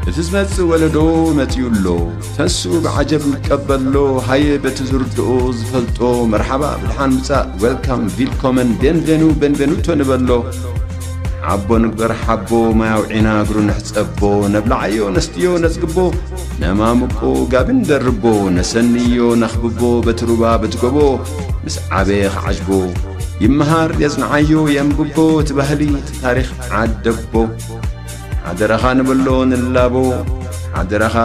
እቲ ዝመጽእ ወለዶ መጺኡ ኣሎ። ተስኡ ብዓጀብ ይቀበሎ። ሃየ በቲ ዝርድኦ ዝፈልጦ መርሓባ ብድሓን ምጻእ፣ ዌልካም፣ ቪልኮመን፣ ቤንቬኑ፣ ቤንቬኑቶ ንበሎ። ሓቦ ንግበር ሓቦ፣ ማይ ኣውዒና እግሩ ንሕጸቦ። ነብልዓዮ ነስትዮ ነጽግቦ፣ ነማምቆ ጋቢ ንደርቦ። ነሰንዮ ነኽብቦ በቲ ሩባ በቲ ጎቦ፣ ምስ ዓበየ ክዓጅቦ። ይመሃር የጽንዓዮ የንብቦ እቲ ባህሊ እቲ ታሪኽ ዓደቦ። ሓደራኻ ንበሎ ንላቦ፣ ሓደራኻ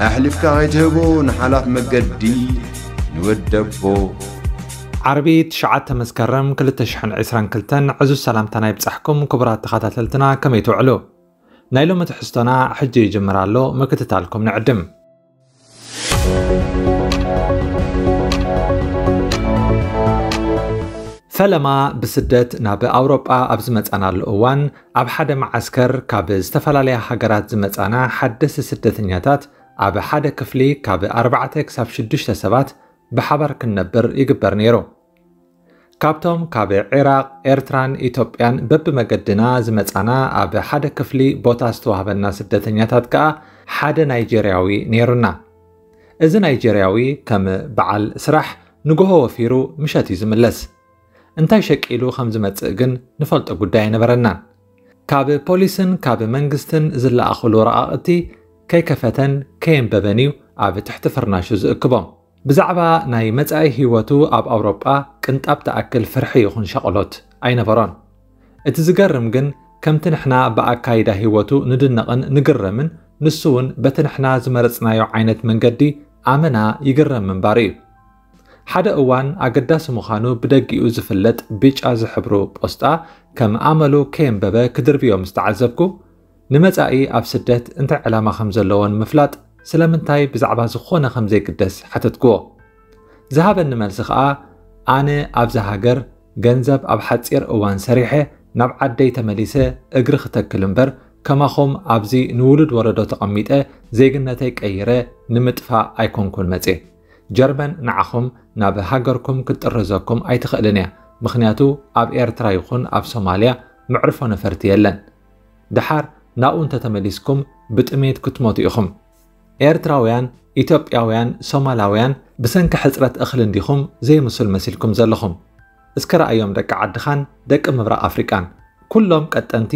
ኣሕሊፍካ ከይትህቦ ንሓላፍ መገዲ ንወደቦ። ዓርቢ ትሽዓተ መስከረም ክልተ ሽሕን ዕስራን ክልተን ዕዙዝ ሰላምታና ይብጻሕኩም ክቡራት ተኸታተልትና፣ ከመይ ትውዕሉ? ናይ ሎሚ ትሕዝቶና ሕጂ ይጅምር ኣሎ፣ ምክትታልኩም ንዕድም። ፈለማ ብስደት ናብ ኣውሮጳ ኣብ ዝመጻናሉ እዋን፣ ኣብ ሓደ መዓስከር ካብ ዝተፈላለያ ሃገራት ዝመጻና ሓደስቲ ስደተኛታት ኣብ ሓደ ክፍሊ ካብ ኣርባዕተ ክሳብ ሽዱሽተ ሰባት ብሓባር ክንነብር ይግበር ነይሩ። ካብቶም ካብ ዒራቕ፣ ኤርትራን ኢትዮጵያን በብመገድና ዝመጻና ኣብ ሓደ ክፍሊ ቦታ ዝተዋህበና ስደተኛታት ከኣ ሓደ ናይጀርያዊ ነይሩና። እዚ ናይጀርያዊ ከም በዓል ስራሕ ንግሆ ወፊሩ ምሸት እዩ ዝምለስ። እንታይ ሸቂሉ ከም ዝመጽእ ግን ንፈልጦ ጉዳይ ኣይነበረናን። ካብ ፖሊስን ካብ መንግስትን ዝለኣኹሉ ረቓቕቲ ከይከፈተን ከየንበበን እዩ ኣብ ትሕቲ ፍርናሹ ዝእክቦም። ብዛዕባ ናይ መጻኢ ህይወቱ ኣብ ኣውሮጳ ቅንጣብ ትኣክል ፍርሒ ይኹን ሻቕሎት ኣይነበሮን። እቲ ዝገርም ግን፣ ከምቲ ንሕና ብኣካይዳ ህይወቱ ንድነቕን ንግረምን፣ ንሱ እውን በቲ ንሕና ዝመረጽናዮ ዓይነት መንገዲ ኣመና ይግረም ምንባሩ እዩ። ሓደ እዋን ኣገዳሲ ምዃኑ ብደጊኡ ዝፍለጥ ብጫ ዝሕብሩ ፖስጣ ከም ኣመሉ ከየንበበ ክድርብዮ ምስ ተዓዘብኩ፣ ንመጻኢ ኣብ ስደት እንታይ ዕላማ ከም ዘለዎ ንምፍላጥ ስለምንታይ ብዛዕባ ዝኾነ ከም ዘይግደስ ሓተትክዎ። ዝሃበኒ መልሲ ከኣ፣ ኣነ ኣብዛ ሃገር ገንዘብ ኣብ ሓጺር እዋን ሰሪሐ ናብ ዓደይ ተመሊሰ እግሪ ክተክል እምበር፣ ከማኹም ኣብዚ ንውሉድ ወለዶ ተቐሚጠ ዜግነተይ ቀይረ ንምጥፋእ ኣይኮንኩን መጽየ። ጀርመን ንዓኹም ናብ ሃገርኩም ክትጥርዘኩም ኣይትኽእልን እያ፣ ምኽንያቱ ኣብ ኤርትራ ይኹን ኣብ ሶማልያ መዕርፎ ነፈርቲ የለን። ደሓር ናብኡ እንተተመሊስኩም ብጥሜት ክትሞቱ ኢኹም። ኤርትራውያን፣ ኢትዮጵያውያን፣ ሶማላውያን ብሰንኪ ሕጽረት እኽሊ እንዲኹም ዘይምሱል መሲልኩም ዘለኹም። እስከ ረኣዮም ደቂ ዓድኻን ደቂ ምብራቕ ኣፍሪቃን። ኩሎም ቀጠንቲ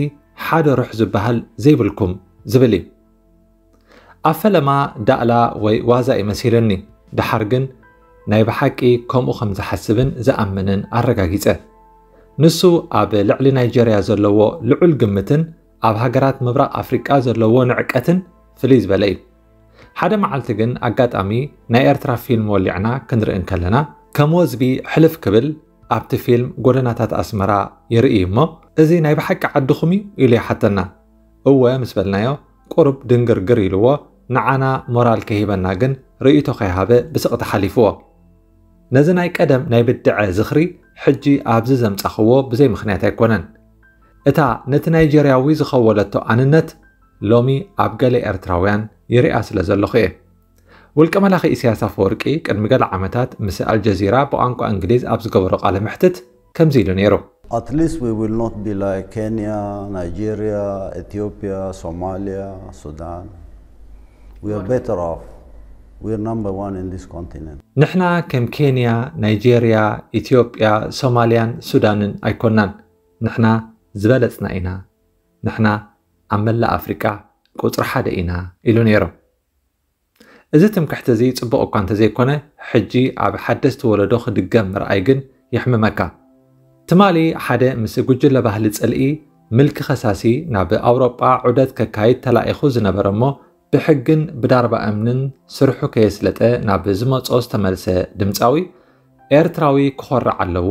ሓደ ሩሕ ዝበሃል ዘይብልኩም ዝብል እዩ። ኣብ ፈለማ ዳእላ ወይ ዋዛ እዩ መሲሉኒ። ደሓር ግን ናይ ብሓቂ ከምኡ ከም ዝሓስብን ዝኣምንን ኣረጋጊጸ። ንሱ ኣብ ልዕሊ ናይጀርያ ዘለዎ ልዑል ግምትን ኣብ ሃገራት ምብራቕ ኣፍሪቃ ዘለዎ ንዕቀትን ፍልይ ዝበለ እዩ። ሓደ መዓልቲ ግን ኣጋጣሚ ናይ ኤርትራ ፊልም ወሊዕና ክንርኢ እንከለና፣ ከም ወዝቢ ሕልፍ ክብል ኣብቲ ፊልም ጎደናታት ኣስመራ ይርኢ እሞ፣ "እዚ ናይ ብሓቂ ዓድኹም እዩ?" ኢሉ ይሓተና። "እወ" ምስ በልናዮ፣ ቁሩብ ድንግርግር ኢልዎ፣ ንዓና ሞራል ከይህበና ግን ርእይቶ ከይሃበ ብስቕታ ሓሊፍዎ። ነዚ ናይ ቀደም ናይ ብድዐ ዝኽሪ ሕጂ ኣብዚ ዘምጻኽዎ ብዘይ ምኽንያት ኣይኮነን። እታ ነቲ ናይጀርያዊ ዝኸወለቶ ኣንነት ሎሚ ኣብ ገለ ኤርትራውያን ይሪኣ ስለ ዘለኹ እየ። ውልቀ መላኺ ኢሳያስ ኣፈወርቂ ቅድሚ ገለ ዓመታት ምስ ኣልጀዚራ ብቋንቋ እንግሊዝ ኣብ ዝገበሮ ቃለ መሕትት ከምዚ ኢሉ ነይሩ። At least we will not be like Kenya, Nigeria, Ethiopia, Somalia, Sudan. We are better off. We are number one in this continent. ንሕና ከም ኬንያ፣ ናይጄርያ፣ ኢትዮጵያ፣ ሶማልያን ሱዳንን ኣይኮናን። ንሕና ዝበለጽና ኢና። ንሕና ኣብ መላእ ኣፍሪቃ ቁጽሪ ሓደ ኢና ኢሉ ነይሩ። እዚ ትምክሕቲ እዚ ጽቡቕ እኳ እንተዘይኮነ፣ ሕጂ ኣብ ሓደስቲ ወለዶ ክድገም ምርኣይ ግን የሕምመካ። ትማሊ ሓደ ምስ ጉጅለ ባህሊ ጽልኢ ምልኪ ከሳሲ ናብ ኣውሮጳ ዑደት ከካይድ ተላኢኹ ዝነበረ እሞ ብሕግን ብዳርባ እምንን ስርሑ ከየስለጠ ናብ ዝመጾ ዝተመልሰ ድምጻዊ፣ ኤርትራዊ ክኾርዕ ኣለዎ፣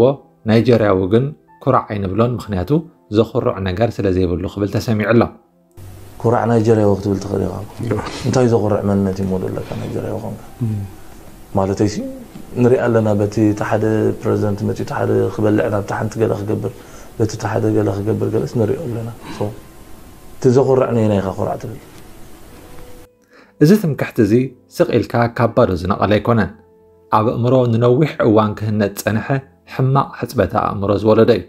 ናይጀርያዊ ግን ኩራዕ ኣይንብሎን፣ ምኽንያቱ ዘኹርዕ ነገር ስለ ዘይብሉ ክብል ተሰሚዑ ኣሎ። ኩራዕ ናይጀርያዊ ክትብል ትኽእል ኢኻ። እንታይ ዘኹርዕ መንነት እዩ እሞ ዘለካ ናይጀርያዊ ኾንካ? ማለተይሲ ንሪኣ ኣለና፣ በቲ እቲ ሓደ ፕረዚደንት መፂኡ እቲ ሓደ ክበልዕ ናብቲ ሓንቲ ገለ ክገብር፣ በቲ እቲ ሓደ ገለ ክገብር ገለስ ንሪኦ ኣለና። So፣ እቲ ዘኹርዕ ነየናይ ኢኻ ኩራዕ ትብል? እዚ ትምክሕቲ እዚ ስቕ ኢልካ ካብ ባዶ ዝነቐለ ኣይኮነን። ኣብ ኣእምሮ ንነዊሕ እዋን ክህነጽ ዝጸንሐ ሕማቕ ሕጽበተ ኣእምሮ ዝወለዶ እዩ።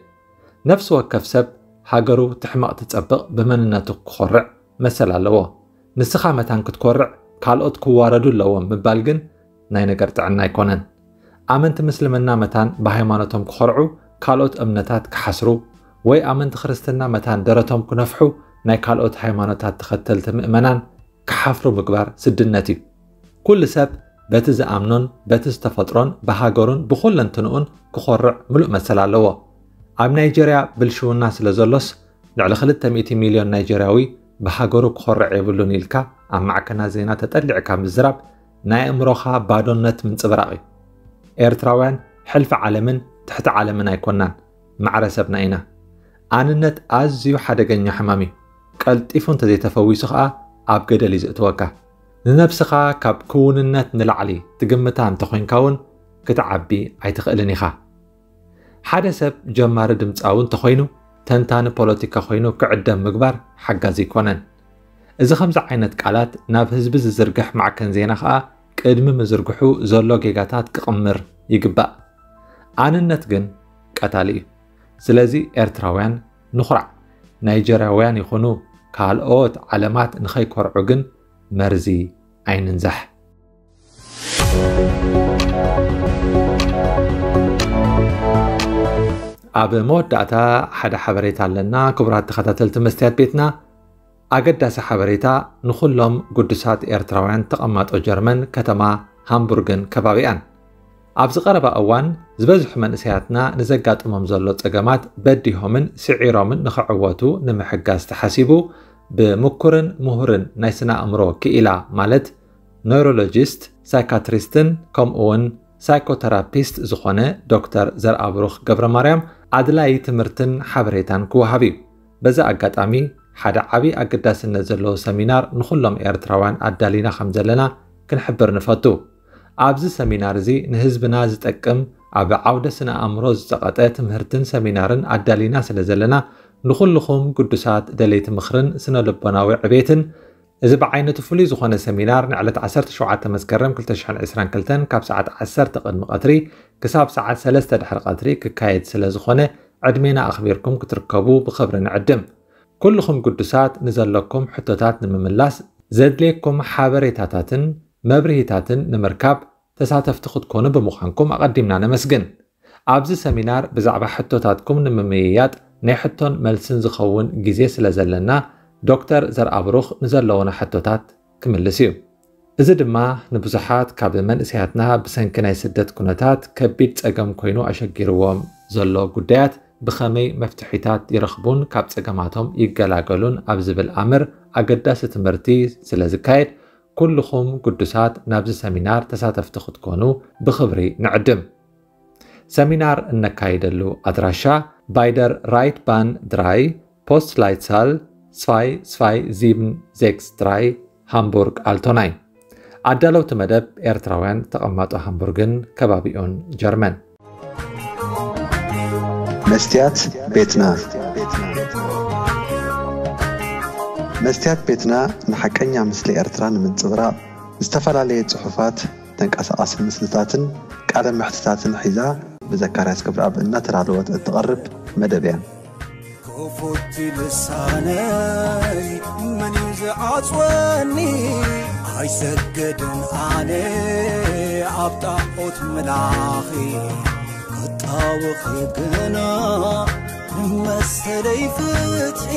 ነፍሲ ወከፍ ሰብ ሃገሩ ትሕመቕ ትጸብቕ ብመንነቱ ክኾርዕ መሰል ኣለዎ። ንስኻ መታን ክትኮርዕ ካልኦት ክዋረዱ ኣለዎም ምባል ግን ናይ ነገር ጥዕና ኣይኮነን። ኣመንቲ ምስልምና መታን ብሃይማኖቶም ክኾርዑ ካልኦት እምነታት ክሓስሩ ወይ ኣመንቲ ክርስትና መታን ደረቶም ክነፍሑ ናይ ካልኦት ሃይማኖታት ተኸተልቲ ምእመናን ክሓፍሩ ምግባር ስድነት እዩ። ኩሉ ሰብ በቲ ዝኣምኖን በቲ ዝተፈጥሮን ብሃገሩን ብኹለንትንኡን ክኾርዕ ምሉእ መሰል ኣለዎ። ኣብ ናይጀርያ ብልሽውና ስለ ዘሎስ ልዕሊ ክልተ ሚእቲ ሚልዮን ናይጀርያዊ ብሃገሩ ክኾርዕ የብሉን ኢልካ ኣብ ማዕከናት ዜና ተጠሊዕካ ምዝራብ ናይ ኣእምሮኻ ባዶነት ምንጽብራቕ እዩ። ኤርትራውያን ሕልፊ ዓለምን ትሕቲ ዓለምን ኣይኮናን፣ ማዕረ ሰብና ኢና። ኣንነት ኣዝዩ ሓደገኛ ሕማም እዩ። ቀልጢፉ እንተዘይተፈዊሱ ኸኣ ኣብ ገደል እዩ ዘእትወካ። ንነብስኻ ካብ ክውንነት ንላዕሊ ትግምታ እንተኾይንካ እውን ክትዓቢ ኣይትኽእልን ኢኻ። ሓደ ሰብ ጀማሪ ድምጻዊ እንተኾይኑ ተንታኒ ፖለቲካ ኮይኑ ክዕደም ምግባር ሓጋዚ ኣይኮነን። እዚ ከምዚ ዓይነት ቃላት ናብ ህዝቢ ዝዝርግሕ ማዕከን ዜና ኸኣ ቅድሚ ምዝርግሑ ዘሎ ጌጋታት ክቕምር ይግባእ። ኣንነት ግን ቀታሊ እዩ። ስለዚ ኤርትራውያን ንኹራዕ። ናይጀርያውያን ይኹኑ ካልኦት ዓለማት ንኸይኮርዑ ግን መርዚ ኣይንንዛሕ። ኣብ መወዳእታ ሓደ ሓበሬታ ኣለና። ክቡራት ተኸታተልቲ መስትያት ቤትና፣ ኣገዳሲ ሓበሬታ ንኹሎም ግዱሳት ኤርትራውያን ተቐማጦ ጀርመን ከተማ ሃምቡርግን ከባቢኣን። ኣብዚ ቀረባ እዋን ዝበዝሑ መንእሰያትና ንዘጋጥሞም ዘሎ ጸገማት በዲሆምን ስዒሮምን ንኽዕወቱ ንምሕጋዝ ተሓሲቡ ብምኩርን ምሁርን ናይ ስነ ኣእምሮ ክኢላ ማለት ኖይሮሎጂስት፣ ሳይካትሪስትን ከምኡውን ሳይኮተራፒስት ዝኾነ ዶክተር ዘርኣብሩኽ ገብረ ማርያም ኣድላዪ ትምህርትን ሓበሬታን ክወሃብ እዩ። በዚ ኣጋጣሚ ሓደ ዓቢ ኣገዳስነት ዘለዎ ሰሚናር ንኹሎም ኤርትራውያን ኣዳሊና ከም ዘለና ክንሕብር ንፈቱ። ኣብዚ ሰሚናር እዚ ንህዝብና ዝጠቅም ኣብ ዓውደ ስነ ኣእምሮ ዝጸቐጠ ትምህርትን ሰሚናርን ኣዳሊና ስለ ዘለና ንኹልኹም ግዱሳት ደለይቲ ምኽርን ስነ ልቦናዊ ዕቤትን እዚ ብዓይነቱ ፍሉይ ዝኾነ ሰሚናር ንዕለት ዓሰርተ ሸውዓተ መስከረም ክልተ ሽሕን ዕስራን ክልተን ካብ ሰዓት ዓሰርተ ቅድሚ ቀትሪ ክሳብ ሰዓት ሰለስተ ድሕሪ ቀትሪ ክካየድ ስለ ዝኾነ ዕድሜና ኣኽቢርኩም ክትርከቡ ብኽብሪ ንዕድም። ኩልኹም ግዱሳት ንዘለኩም ሕቶታት ንምምላስ ዘድልየኩም ሓበሬታታትን መብርሂታትን ንምርካብ ተሳተፍቲ ክትኮኑ ብምዃንኩም ኣቐዲምና ነመስግን። ኣብዚ ሰሚናር ብዛዕባ ሕቶታትኩም ንምምይያጥ ናይ ሕቶን መልስን ዝኸውን ግዜ ስለ ዘለና ዶክተር ዘርኣብሩኽ ንዘለዉና ሕቶታት ክምልስ እዩ። እዚ ድማ ንብዙሓት ካብ መንእሰያትና ብሰንኪ ናይ ስደት ኩነታት ከቢድ ጸገም ኮይኑ ኣሸጊርዎም ዘሎ ጉዳያት ብኸመይ መፍትሒታት ይረኽቡን ካብ ጸገማቶም ይገላገሉን ኣብ ዝብል ኣምር ኣገዳሲ ትምህርቲ ስለ ዝካየድ ኩልኹም ግዱሳት ናብዚ ሰሚናር ተሳተፍቲ ክትኮኑ ብኽብሪ ንዕድም። ሰሚናር እነካይደሉ ኣድራሻ ባይደር ራይት ባን ድራይ ፖስት ላይትሳል ስፋይ ስፋይ ዚብን ዜክስ ድራይ ሃምቡርግ ኣልቶናይ። ኣዳለውቲ መደብ ኤርትራውያን ተቐማጦ ሃምቡርግን ከባቢኡን ጀርመን። መስትያት ቤትና። መስትያት ቤትና ንሓቀኛ ምስሊ ኤርትራ ንምንጽብራቕ ዝተፈላለየ ጽሑፋት፣ ተንቀሳቓሲ ምስልታትን ቃለ መሕትታትን ሒዛ ብዘካርያስ ገብረኣብ እናተዳለወት እትቐርብ መደብ እያ። ክፉት ልሳነይ መን እዩ ዝዓጽወኒ? ኣይሰግድን ኣነ ኣብ ጣዖት ምላኺ፣ ክጣወኺ ግና ንመሰለይ ፍትሒ።